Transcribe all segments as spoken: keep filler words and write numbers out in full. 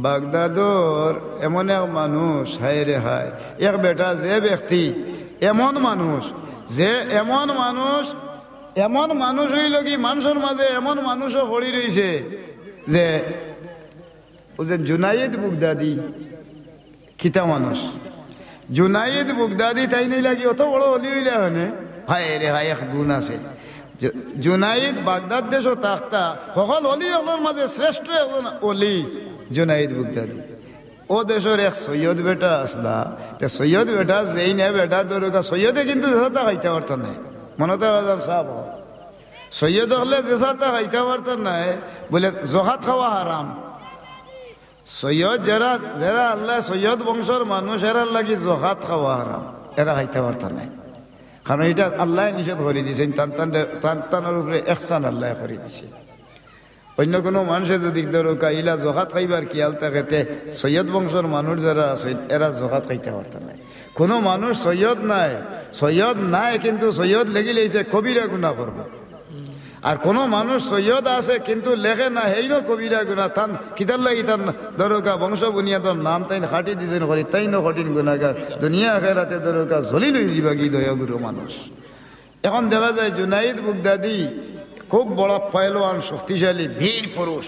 বাগদাদর এমন এক মানুষ, হায় রে হায়, এক বেটা, যে ব্যক্তি এমন মানুষ, যে এমন মানুষ, এমন মানুষ অইলো কি, মানষর মাঝে এমন মানুষও পড়ি রইছে যে, অউ যে জুনায়েদ বুগদাদি, কিতা মানুষ। জুনায়েদ বুগদাদি তাইন অইলা কি অত বড় অলি অইলা অনে? হায় রে হায়, এক গুণ আছে। জু-, জুনায়েদ বাগদাদ দেশো থাকতা, হকল অলি অকলর মাঝে শ্রেষ্ঠ একজন অলি জুনায়েদ বুগদাদি। অউ দেশর এক সৈয়দ বেটা আছলা, তে সৈয়দ বেটা যেইন বেটা ধরউক্কা, সৈয়দে কিন্তু যেছা তা খাইতা পারতা নায়। মনো তো রাখবা সাব, সৈয়দ অকলে যেছা তা খাইতা পারতা নায়, বুলে জকাত খাওয়া হারাম। সৈয়দ যেরা, যেরা আল্লায় সৈয়দ বংশর মানুষ, এরার লাগি জকাত খাওয়া হারাম, এরা খাইতা পারতা নায়। কারণ ইটা আল্লায় নিষেধ করি দিছইন, তান তান, তান তানর উপরে ইহসান আল্লায় করি দিছইন। অইন্য কুনু মানষে যুদি ধরউক্কা ইলা জকাত খাইবার খিয়াল থাকে, তে সৈয়দ বংশর মানুষ যেরা আছইন, এরা জকাত খাইতা পারতা নায়। কুনু মানুষ সৈয়দ নায়, সৈয়দ নায়, কিন্তু সৈয়দ লেগি লাইছে কবিরা গুনা করবো। আর কুনু মানুষ সৈয়দ আছে কিন্তু লেখে না, হেইনও কবিরা গুনা। তান কিতার লাগি? তান ধরউক্কা বংশ বুনিয়াদর নাম তাইন কাটি দিছইন করি, তাইনও কঠিন গুনাগার, দুনিয়া আখেরাতে ধরউক্কা জলিল অইযিবা গি দয়াগুরু মানুষ। এখন দেখা যায় জুনাইদ বুগদাদি খুব বড় পয়লওয়ান, শক্তিশালী বীর পুরুষ।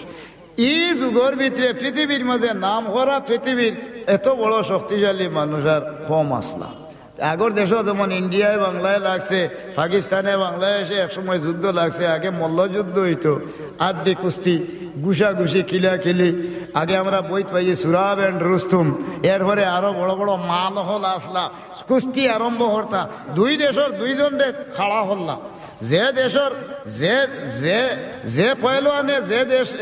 ই যুগর ভিতরে পৃথিবীর মাঝে নাম করা, পৃথিবীর এত বড় শক্তিশালী মানুষ আর কম আছলা। আগর দেশো যেমন ইন্ডিয়ায় বাংলায় লাগছে, পাকিস্তানে বাংলাদেশে এক সময় যুদ্ধ লাগছে, আগে মল্লযুদ্ধ অইতো, আদ্দি কুস্তি, ঘুষাঘুষি, কিলাকিলি। আগে আমরা বইত পাইছি সুরাব and রুস্তুম, এরপরে আরো বড় বড় মাল অকল আছলা, কুস্তি আরম্ভ করতা, দুই দেশর দুইজনরে খাড়া করলা। যে দেশর যে, যে, যে পয়লওয়ানে যে দেশ,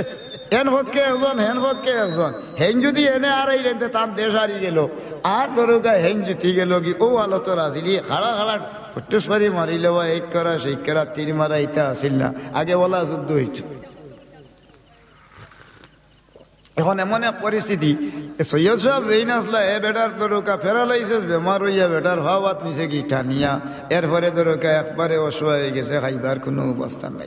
এন পক্ষে একজন, হেন পক্ষে একজন, হেইন যুদি এনে আরাইলেন, তে তান দেশ আরি গেলো। আর ধরউক্কা হেইন জিতি গেলো গি, অউ হালতর আছিল, ই খাড়া খাড়া ফুটুস করি মারিলে বা এক করা, সেই করা, তীর মারা, ইতা আছিল না। আগে অলা যুদ্ধ অইতো। এখন এমন এক পরিস্থিতি, এ সৈয়দ সাব যেইন আছলা, এ বেটার ধরউক্কা paralysis বেমার অইয়া বেটার পাও আত নিছে গি টানিয়া, এরপরে ধরউক্কা একবারে অসহায় অইগেছে, খাইবার কুনু অবস্থা নাই।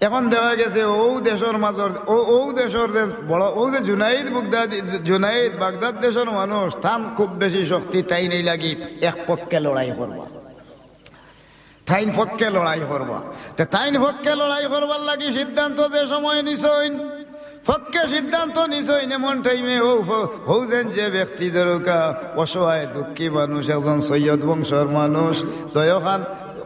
এখন দেখা গেছে অউ দেশর মাজর, অউ, অউ দেশর যে বড়, অউ যে জুনাইদ বুগদাদি, জুনাইদ বাগদাদ দেশর মানুষ, তান খুব বেশি শক্তি, তাইন অইলা গি এক পক্ষে লড়াই করবা। তাইন পক্ষে লড়াই করবা। তে তাইন পক্ষে লড়াই করবার লাগি সিদ্ধান্ত যে সময় নিছইন, পক্ষে সিদ্ধান্ত নিছইন, এমন টাইমে অউ ফ-, অউ যেন যে ব্যক্তি ধরউক্কা অসহায় দুঃখী মানুষ, একজন সৈয়দ বংশর মানুষ, দুইওখান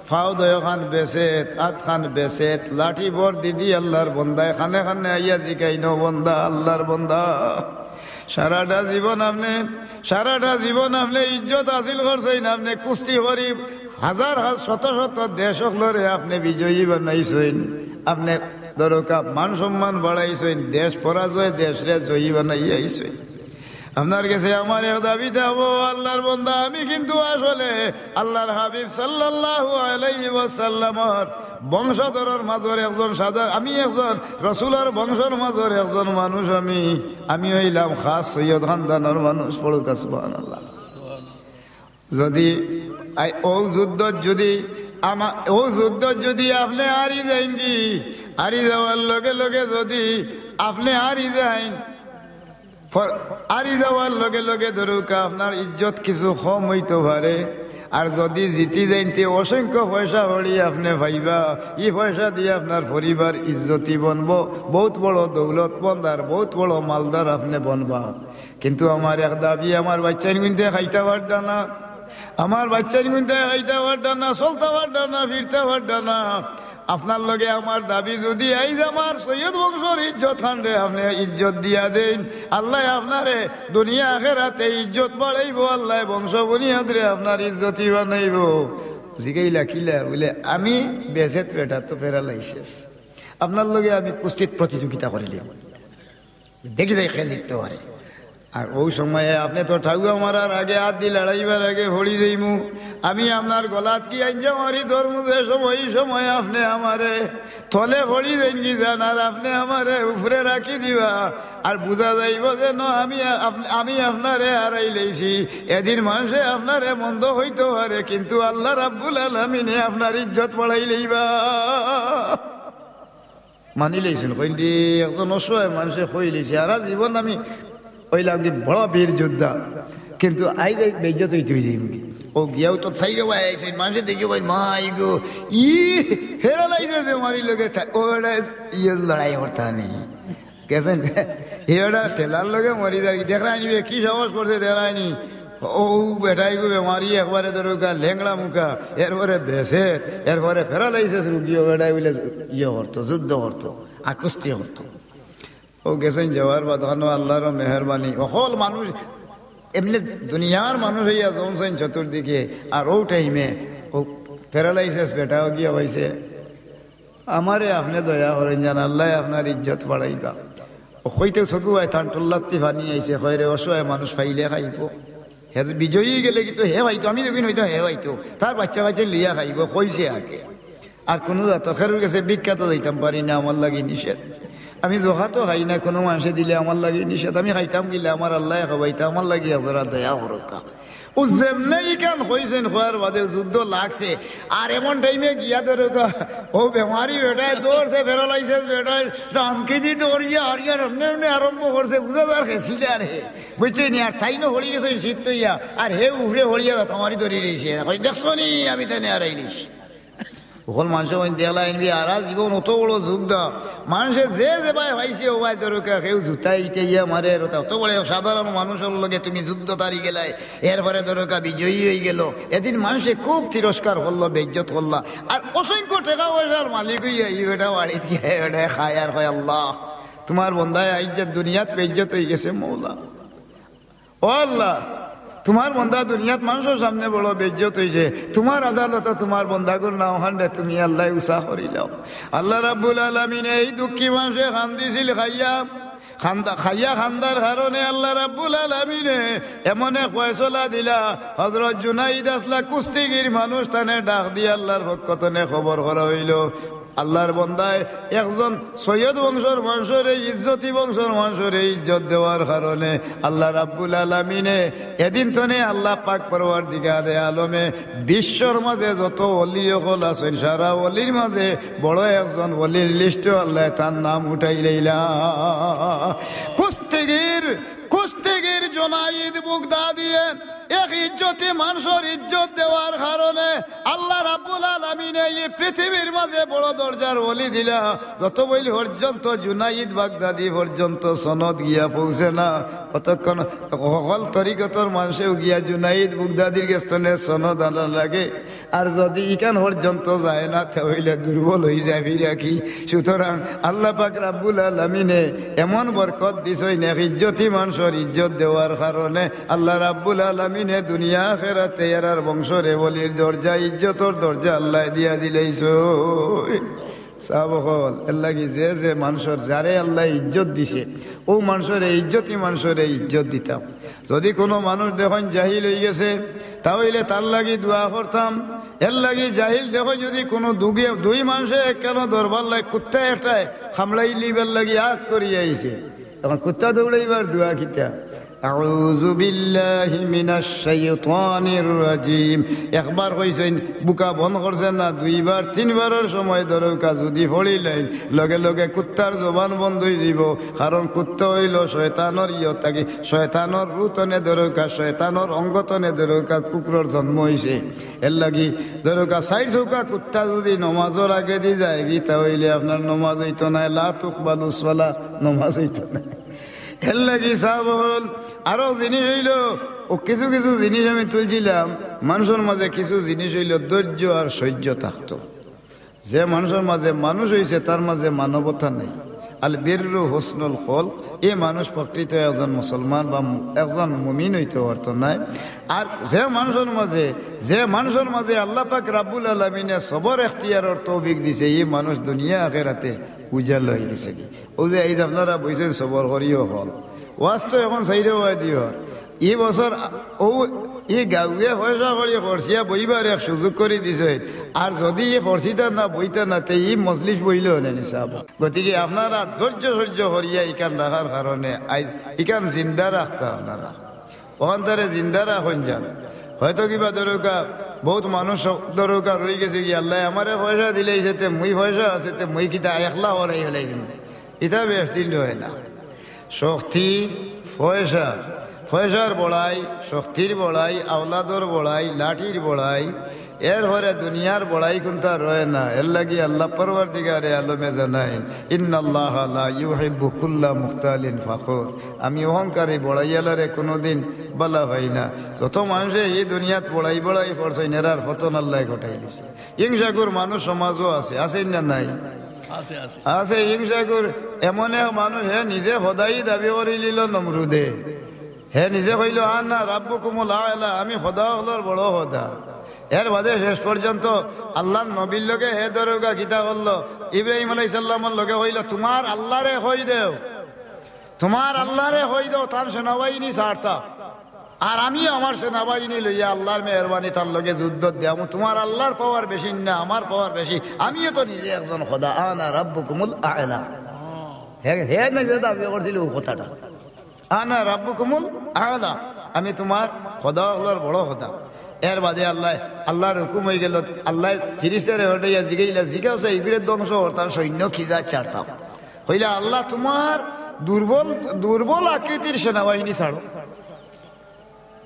পাও দুইওখান বেছেত, আতখান বেছেত, লাঠি ভর দিদি আল্লার বন্দায় কানে কানে আইয়া জিকাইন, "ও বন্দা, আল্লার বন্দা, সারাটা জীবন আপনে, সারাটা জীবন আপনে ইজ্জত হাসিল করছইন, আপনে কুস্তি করি হাজার হাজার শত শত দেশ অকলরে আপনে বিজয়ী বানাইছইন, আপনে ধরউক্কা মান সম্মান বাড়াইছইন, দেশ পরাজয় দেশরে জয়ী বানাইয়া আইছইন। আপনার গেছে আমার এক দাবি থাকবো, আল্লার বন্দা, আমি কিন্তু আসলে আল্লার হাবিব সাল্লাল্লাহু আলাইহি ওয়াসাল্লামর বংশধরর মাজর একজন সাদা, আমি একজন রসুলর বংশর মাজর একজন মানুষ, আমি, আমি অইলাম খাস সৈয়দ খানদানর মানুষ।" পড়উক্কা সুবহানাল্লাহ। যুদি আই-, অউ যুদ্ধত যুদি আমা-, অউ যুদ্ধত যুদি আপনে হারি যাইন গি, হারি যাওয়ার লগে লগে যুদি আপনে হারি যাইন, ফ-, হারি যাওয়ার লগে লগে ধরউক্কা আপনার ইজ্জত কিছু কম অইতো পারে, আর যুদি জিতি যাইন তে অসংখ্য পয়সা কড়ি আপনে পাইবা, ই পয়সা দিয়া আপনার পরিবার ইজ্জতি বনবো, বউত বড় দৌলতমন্দ আর বউত বড় মালদার আপনে বনবা। কিন্তু আমার এক দাবি, আমার বাইচ্চাইন গুনতে খাইতা পাররা না, আমার বাইচ্চাইন গুনতে খাইতা পাররা না, চলতা পাররা না, ফিরতা পাররা না। আপনার লগে আমার দাবি, যুদি আইজ আমার সৈয়দ বংশর ইজ্জত খানরে আপনে ইজ্জত দিয়া দেইন, আল্লায় আপনারে দুনিয়া আখেরাতে ইজ্জত বাড়াইবো, আল্লায় বংশ বুনিয়াদরে আপনার ইজ্জতি বানাইবো। জিগাইলা, "কিলা?" বুলে, "আমি বেছেত বেটা তো paralysis, আপনার লগে আমি কুস্তিত প্রতিযোগিতা করিলিমু।" দেখি যাই কে জিততো পারে। আর অউ সময়ে আপনে তো ঠাউয়া মারার আগে, আত দি লড়াইবার আগে পড়ি যাইমু। আমি আপনার গলাত কি আইঞ্জা মারি ধরমু যে সময়, ই সময় আপনে আমারে তলে পড়ি যাইন গি যান, আর আপনে আমারে উপরে রাখি দিবা। আর বুঝা যাইবো যে ন, আমি আপ-, আমি আপনারে হারাইলাইছি। এদিন মানষে আপনারে মন্দ কইতো পারে, কিন্তু আল্লাহ রাব্বুল আলামিনে আপনার ইজ্জত বাড়াইলাইবা। মানি লইছইন, কইন দি একজন অসহায় মানষে কই লইছে, "সারা জীবন আমি অইলাম কি বড় বীর যোদ্ধা, কিন্তু আইজ এই বেইজ্জত অইতে অইছে কি?" ও গিয়াও তো চাইরো ভাই আইছইন, মানষে দেখি কইন, "মাই গো, ই প্যারালাইসিস বেমারির লগে থা-, ও বেটা ইয়ে লড়াই করতা নি।" গেছইন, ই বেটা ঠেলার লগে মরি যার কি, দেখরায়নি বে, কি সাহস করছে দেখরায়নি। ও বেটাইগু বেমারি একবারে ধরো গা লেংড়া মুখা, এরপরে বেসের, এরপরে প্যারালাইসিস রুগী, ও বেটায় বুলে ইয়ে করতো, যুদ্ধ করতো, আর কুস্তি করতো। ও গেছইন যাওয়ার বাদ খানো আল্লাহর মেহেরবানি, অকল মানুষ এমনে দুনিয়ার মানুষ অইয়া জমছইন চতুর্দিকে, আর ও টাইমে ও প্যারালাইসিস বেটাও গিয়া অইছে, "আমারে আপনে দয়া করইন যান, আল্লায় আপনার ইজ্জত বাড়াইবা।" ও কইতে চকু আয় তান টুল্লাত্তি পানি আইছে, কয়, "রে অসহায় মানুষ পাইলে খাইবো, হে বিজয়ী গেলে কিন্তু হে পাইতো, আমি যখন অইতাম হে পাইতো, তার বাচ্চা কাচ্চা লইয়া খাইবো, কইছে আগে।" আর কুনু জাত খেরুর গেছে ভিক্ষা তো দিতাম পারি না, আমার লাগি নিষেধ। আমি জকাতও খাই না, কুনু মানষে দিলে আমার লাগি নিষেধ। আমি খাইতাম গিলে আমার আল্লায় খাবাইতা, আমার লাগি আপনারা দয়া করউক্কা। ও যেমনে ইখান কইছইন, কওয়ার বাদে যুদ্ধ লাগছে। আর এমন টাইমে গিয়া ধরউক্কা, ও বেমারি বেটায় ধরছে, প্যারালাইসিস বেটায়, তামকি দি ধরিয়া হারিয়ার এমনে এমনে আরম্ভ করছে, বুঝা যার গেছিল আর হে। বুঝছইন নি? আর তাইনও হরি গেছইন শীত তইয়া, আর হে উপরে হরিয়া তামারি ধরি রইছে। কই, "দেখছো নি, আমি তানে হারাই দিছি।" অকল মানষে কইন দেখলা ইনবি, সারা জীবন অত বড় যোদ্ধা, মানষে যে যেবায় পাইছে, ওবায় ধরউক্কা, কেউ জুতা ইটাইয়া মারে, আর অত বড় সাধারণ মানুষর লগে তুমি যুদ্ধত হারি গেলায়, এরপরে ধরউক্কা বিজয়ী অইগেলো। এদিন মানষে খুব তিরস্কার করলো, বেইজ্জত করলা, আর অসংখ্য টেকা পয়সার মালিক অইয়া ই বেটা বাড়িত গিয়া ই বেটায় খায় আর কয়, "আল্লাহ, তুমার বন্দায় আইজ যে দুনিয়াত বেইজ্জত অইগেছে মৌলা।" ও আল্লাহ, তুমার বন্দা দুনিয়াত মানষর সামনে বড় বেইজ্জত অইছে, তুমার আদালতো তুমার বন্দাগুর নাম খানরে তুমি আল্লায় উচা করিলাও। আল্লাহ রাব্বুল আলামিনে এই দুঃখী মানষে কান্দিছিল খাইয়া, কান্দা-, খাইয়া কান্দার কারণে আল্লাহ রাব্বুল আলামিনে এমন এক ফয়সলা দিলা, হযরত জুনাইদ আছলা কুস্তিগির মানুষ, তানে ডাক দিয়া আল্লাহর পক্ষ তনে খবর করা অইলো। আল্লাহর বন্দায় একজন সৈয়দ বংশর মানষরে, ইজ্জতি বংশর মানষরে ইজ্জত দেওয়ার কারণে আল্লাহ রাব্বুল আলামিনে এদিন তনে আল্লাহ পাক পরওয়ারদিগারে আলমে বিশ্বর মাঝে যত ওলি অকল আছইন, সারা ওলির মাঝে বড় একজন ওলির লিস্টো আল্লায় তার নাম উঠাই লইলা। কুস্তিগির, কুস্তিগির জুনাইদ বুগদাদিয়ে এক ইজ্জতি মানষর ইজ্জত দেওয়ার কারণে আল্লাহ রাব্বুল আলামিনে ই পৃথিবীর মাঝে বড় দরজার ওলি দিলা। যত বইল পর্যন্ত জুনাইদ বাগদাদি পর্যন্ত সনদ গিয়া পৌঁছে না, অতক্ষণ হকল তরিকতর মানষেও গিয়া জুনাইদ বুগদাদির গেছ তনে সনদ আনা লাগে। আর যদি ইখান পর্যন্ত যায় না, তে অইলে দুর্বল অইযায় রাখি। সুতরাং আল্লাহ পাক রাব্বুল আলামিনে এমন বরকত দিছইন, এক ইজ্জতি মানষর ইজ্জত দেওয়ার কারণে আল্লাহ রাব্বুল আলামিনে দুনিয়া আখেরাতে এরার বংশরে ওলির দরজা, ইজ্জতর দরজা আল্লায় দিয়া দিলাইছইন। সাব অকল, এরলাগি যে যে মানষর, যারে আল্লায় ইজ্জত দিছে, অউ মানষরে, ইজ্জতি মানষরে ইজ্জত দিতাম। যদি কুনু মানুষ দেখইন জাহিল অইগেছে, তা অইলে তার লাগি দোয়া করতাম। এরলাগি জাহিল দেখইন যদি কুনু দুগে-, দুই মানষে একখানো ধরবার লাগি, কুত্তা একটায় কামড়াইলিবার লাগি আগ করি আইছে, অখন কুত্তা দৌড়াইবার দোয়া কিতা? আউযু বিল্লাহি মিনাশ শাইতানির রাজিম। একবার কইছইন, বুকা বন্ধ করছইন না, দুইবার, তিনবারর সময় ধরউক্কা যদি পড়িলাইন, লগে লগে কুত্তার জবান বন্ধ অইযিবো। কারণ কুত্তা অইলো শয়তানর ইয়ত থাকি, শয়তানর রু তনে ধরউক্কা, শয়তানর অঙ্গ তনে ধরউক্কা কুকুরর জন্ম অইছে। এরলাগি ধরউক্কা চাইর চউক্কা কুত্তা যদি নমাজর আগেদি যায়গি, তা অইলে আপনার নমাজ অইতো নায়, লা তুকবালু সলা, নমাজ অইতো নায়। এরলাগি সাব অকল, আরো জিনিস অইলো, অউ কিছু কিছু জিনিস আমি তুলছিলাম, মানষর মাঝে কিছু জিনিস অইলো ধৈর্য আর সহ্য থাকতো। যে মানষর মাঝে মানুষ অইছে, তার মাঝে মানবতা নাই। আল বিররু হুসনুল খুলক, ই মানুষ প্রকৃত একজন মুসলমান বা মু-, একজন মুমিন অইতো পারতো নায়। আর যে মানষর মাঝে, যে মানষর মাঝে আল্লাহ পাক রাব্বুল আলামিনে সবর এখতিয়ারর তৌফিক দিছে, ই মানুষ দুনিয়া আখেরাতে উজালা অইগেছেগি। অউ যে আইজ আপনারা বইছইন সবর করিও অকল। ওয়াজ তো অখন চাইরোবায়দি অর। ই বছর অউ ই গাউয়ে পয়সা করি খরচিয়া বইবার এক সুযোগ করি দিছে। আর যদি ই খরচিতা না বইতা না, তে ই মজলিস বইলো অনে নি সাব। গতিকে আপনারা ধৈর্য সহ্য করিয়া ইখান রাখার কারণে আইজ ইখান জিন্দা রাখতা আপনারা। অখানতারে জিন্দা রাখইন যান। হয়তো কিবা ধরউক্কা বউত মানুষ দরকার অইগেছে কি, "আল্লায় আমারে পয়সা দিলাইছে, তে মুই পয়সা আছে, তে মুই কিতা একলা হরাই ফেলাই দিমু।" ইতা বেশদিন রয় না। শক্তি, পয়সা, পয়সার বড়াই, শক্তির বড়াই, আওলাদর বড়াই, লাঠির বড়াই, এরপরে দুনিয়ার বড়াই কুনতা রয় না। এরলাগি আল্লাহ পরওয়ারদিগারে আলমে জানাইন, "ইন্নাল্লাহা লা ইউহিব্বু কুল্লা মুখতালিন ফাখুর।" আমি অহংকারী বড়াইয়ালারে কুনুদিন বালা পাই না। যত মানষে ই দুনিয়াত বড়াই বড়াই করছইন, এরার পতন আল্লায় ঘটাইলিছে। হিংসাকুর মানুষ সমাজো আছে, আছে না নাই? আছে, আছে। আছে হিংসাকুর। এমন এক মানুষ, হে নিজে খোদাই দাবি করিলিলো নমরুদে। হে নিজে কইলো, "আনা রাব্বুকুমুল আ'লা, আমি খোদা অকলর বড় খোদা।" এরবাদে শেষ পর্যন্ত আল্লার নবীর লগে হে দরগা কিতা করলো, ইব্রাহিম আলাইহিস সালামর লগে কইলো, "তুমার আল্লারে কই দেও, তুমার আল্লারে কই দেও, তান সেনাবাহিনী ছাড়তা।" আর আমি আমার সেনাবাহিনী লইয়া আল্লার মেহেরবানি তার লগে যুদ্ধ দিয়ামু। তুমার আল্লার পাওয়ার বেশি না, আমার পাওয়ার বেশি। আমিও তো নিজে একজন খোদা, আনা রাব্বুকুমুল আ'লা। হে, হে নিজে দাবি করছিল অউ কথাটা, "আনা রাব্বুকুমুল আ'লা, আমি তুমার খোদা অকলর বড় খোদা।" এরবাদে আল্লায়, আল্লার হুকুম অইগেলো, আল্লায় ফিরিস্তারে হটাইয়া জিগাইলা, "জিগাও চাই, ইগুরে ধ্বংস করতাম, সৈন্য খিজা ছাড়তাম।" কইলা, "আল্লাহ, তুমার দুর্বল, দুর্বল আকৃতির সেনাবাহিনী ছাড়ো।"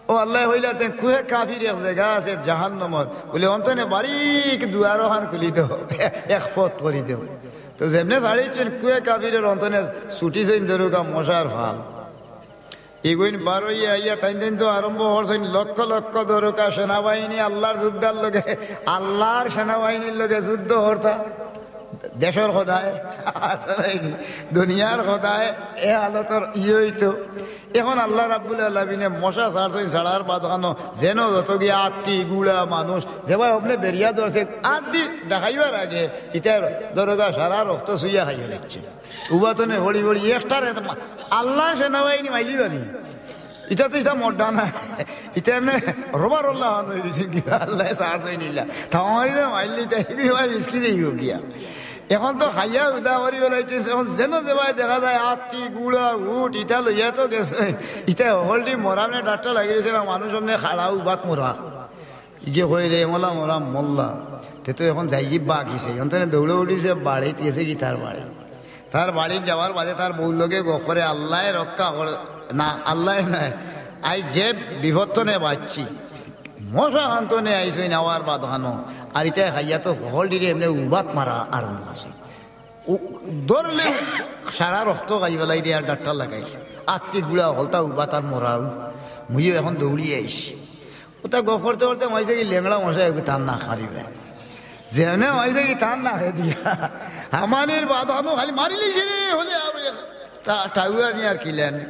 ও আল্লায় কইলা, "তে কুহে কাফির এক জাগা আছে জাহান্নামর, বুলে অন্তনে বারিক দুয়ার অখান খুলি দেও, এক পথ করি দেও।" তো যেমনে ছাড়িছইন, কুহে কাফিরর অন্তনে ছুটিছইন দরগা মশার ফাল। ইগুইন বারইয়া আইয়া তাইন তাইন তো আরম্ভ করছইন, লক্ষ লক্ষ দরগা সেনাবাহিনী আল্লার যোদ্ধার লগে, আল্লার সেনাবাহিনীর লগে যুদ্ধ করতা। দেশর খোদায়, দুনিয়ার খোদায়, এ হালতর ইয়ে অইতো। এখন আল্লাহ রাব্বুল আলামিনে মশা ছাড়ছইন, ছাড়ার বাদ খানো যেন যত গিয়া আত্তি, গুড়া মানুষ, যেবায় হবনে বেরিয়া ধরছে, আত্তি দেখাইবার আগে ইতার দরগা সারা রক্ত চুইয়া খাইয়া দিচ্ছে। উবাতনে হড়ি হড়ি একটার এত মা-, আল্লাহ সেনাবাহিনী মাইলি বানি। ইটা তো ইটা মড্ডা না। ইটা এমনে রবার আল্লাহ হন হয়ে গেছে কি, আল্লাহ সাহস হয়ে নিলা। থামাইলে মাইলি তাই কি ভাই মিসকি দেই গো গিয়া। এখন তো খাইয়া উদা করি বেলাইছে, এখন যেন যেবায় দেখা যায় আত্তি, গুড়া, উট, ইটা লইয়া তো গেছে। ইটা হলডি মরামে ডাক্তার লাগি রয়েছে না, মানুষ এমনে খাড়া উবাত মরা। ইগে কই রে, মোলা মোরা মোল্লা। তে তো এখন যাইগি বাকি সেই। অন্তনে দৌড়ে উঠিছে, বাড়িত গেছে কি তার বাড়ি। তার বাড়িত যাওয়ার বাদে তার বউর লগে গফ করে, "আল্লায় রক্ষা করে না, আল্লায় নাই। আই যে বিপদ তনে বাঁচছি, মশা খান তনে আইসই নেওয়ার বাদ খানো।" আর ইটায় খাইয়া তো হকল ডিরে এমনে উবাত মারা আরম্ভ করছে। উ-, ধরলে সারা রক্ত খাই ফেলাই দে আর ডাক্তার লাগাই। আত্তি গুড়া হলতা উবাত আর মরাও। মুইও এখন দৌড়িয়া আইছি। ওটা গফ করতে করতে মাইছে কি লেংড়া মশা একটু তার না খারিবে। যেমনে মাইছে কি তার না খেয়ে দিয়া। হামানির বাদ আনো খালি মারিলি রে, হলে আর তা-, টাউয়া নিয়ে আর কিলেন।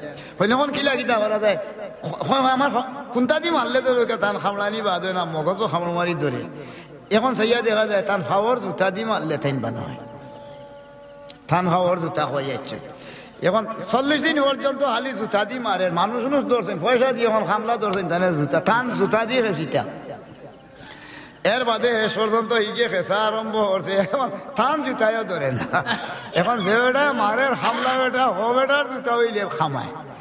হইলে এখন কিলা কিতা করা যায়? হ-, হ-, আমার হ-, কোনটা দি মারলে তো ওকে তান খামড়ানি বাদ হয় না, মগজও খামড় মারি ধরে। এখন চাইয়া দেখা যায় তান ফাওর জুতা দি মারলে তাইন বালা হয়। তান ফাওর জুতা হয়ে যাচ্ছে। এখন চল্লিশ দিন পর্যন্ত খালি জুতা দি মারে, মানুষ উনুষ ধরছেন, পয়সা দিয়ে এখন খামলা ধরছেন, তাহলে জুতা, তান জুতা দিয়ে গেছিতা। এর বাদে শেষ পর্যন্ত ইগে খেসা আরম্ভ করছে, এখন তান জুতায়ও ধরে না। এখন যে বেটা মারের খামলা বেটা, ও বেটার জুতা হইলে খামায়।